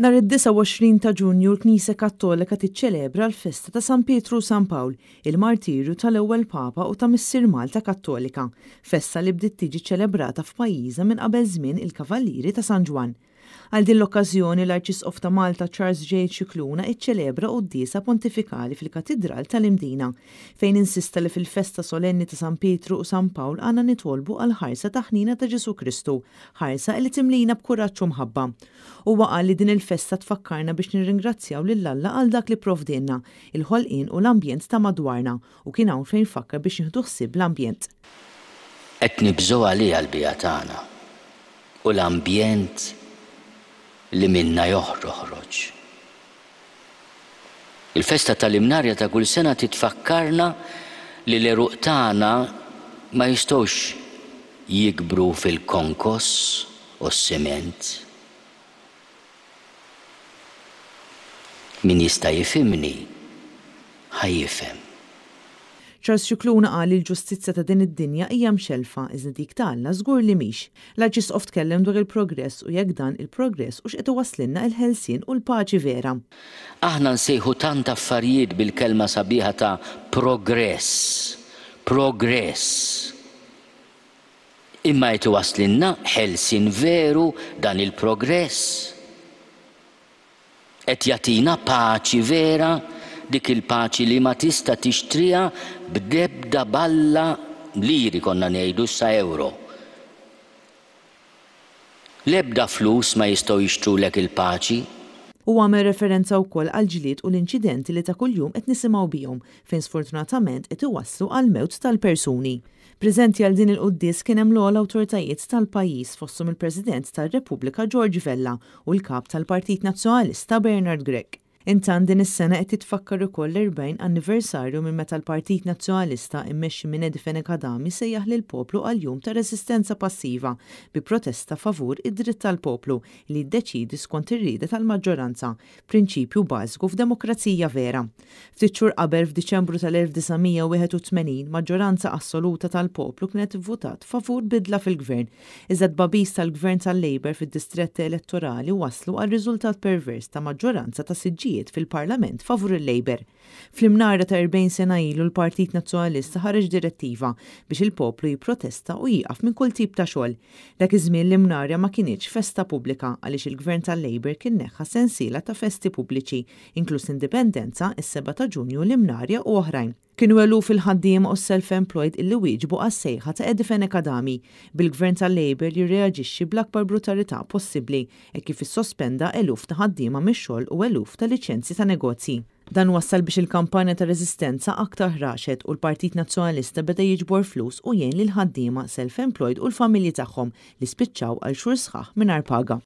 Nhar id-29 ta' Ġunju l-Knisja Kattolika tiċċelebra l-festa ta' San Pietru u San Pawl, il-martirju tal-ewwel Papa u ta' Missier Malta Kattolika, festa li bdiet tiġi ċċelebrata f'pajjiżna minn qabel żmien il-Kavallieri ta' San Ġwann. Għal din l-okkażjoni l-Arċisqof ta' Malta Charles J. Scicluna iċċelebra quddiesa pontifikali fil-Katidral tal-Imdina, fejn insista li fil-festa solenni ta' San Pietru u San Pawl għandna nitolbu għall-ħarsa ta' ħniena ta' Ġesù Kristu, ħarsa li timlina b'kuraġġ u mħabba. Huwa qal li din il-festa tfakkarna biex nirringrazzjaw lil Alla għal dak li pprovdielna, il-ħolqien u l-ambjent ta' madwarna u kien hawn fejn fakkar biex nieħdu ħsieb l-ambjent. Qed nibżgħu għaliha l-biegħa tagħna u l-ambjent li minnha joħroħroġ. Il-festa tal-Imnarja ta' kull sena titfakkarna li l-għeruq tagħna ma jistgħux jikbru fil-konkos u s-siment. Min jista' jifhimni, ħa jifhem. Charles Scicluna qal li l-ġustizzja ta' din id-dinja hija mxellfa iżda dik ta' Alla żgur li mhix. L-Arċisqof tkellem dwar il-progress u jekk dan il-progress hux qed iwasslilna il-ħelsien u l-paċi vera. Aħna nsejħu tant affarijiet bil-kelma sabiħa ta' progress, progress. Imma qed iwasslilna ħelsien veru dan il-progress? Qed jagħtina paċi vera, dik il-paċi li ma tista' tixtriha b'debda balla liri konna ngħidu issa ewro. L-ebda flus ma jistgħu jixtrulek il-paċi. Huwa għamel referenza wkoll għall-ġlied u l-inċidenti li ta' kuljum qed nisimgħu bihom, fejn sfortunatament qed iwasslu għall-mewt tal-persuni. Preżenti għal din il-quddies kien hemm l-ogħla awtoritajiet tal-pajjiż fosthom il-President tar-Repubblika George Vella u l-Kap tal-Partit Nazzjonalista Bernard Grech. Intant din is-sena qed jitfakkar ukoll l-40 anniversarju minn meta l-Partit Nazzjonalista immexxi minn Eddie Fenech Adami sejjaħ lill-poplu għal jum ta' reżistenza passiva bi protesta favur id-dritt tal-poplu li jiddeċiedi skont ir-rieda tal-maġġoranza, prinċipju bażiku f'demokrazija vera. Ftit xhur qabel, f'Diċembru tal-1981, maġġoranza assoluta tal-poplu kienet ivvutat favur bidla fil-gvern, iżda t-tbagħbis tal-gvern tal-Labour fid-distretti elettorali wasslu għal riżultat pervers ta' maġġoranza ta' siġġijiet fil-Parlament favur il-Labour. Fl-imnara ta' 40 sena ilu l-Partit Nazzjonalista ħareġ direttiva biex il-poplu jipprotesta u jieqaf minn kull tip ta' xogħol. Dak iż-żmien l-Imnarja ma kinitx festa pubblika għaliex il-Gvern tal-Labour kien neħħa sensiela ta' festi pubbliċi, inkluż l-Indipendenza, is-Sebgħa ta' Ġunju, l-Imnarja u oħrajn. Kienu eluf il-ħaddiema u s-self-employed illi wieġbu għas-sejħa ta' Eddie Fenech Adami, bil-Gvern tal-Labour jirreaġixxi bl-akbar brutalità possibbli hekk kif issospenda eluf ta' ħaddiema mix-xogħol u eluf ta' liċenzji ta' negozji. Dan wassal biex il-kampanja ta' reżistenza aktar ħraxet u l-Partit Nazzjonalista beda jiġbor flus u jgħin lill-ħaddiema self-employed u l-familji tagħhom li spiċċaw għal xhur sħaħ mingħajr paga.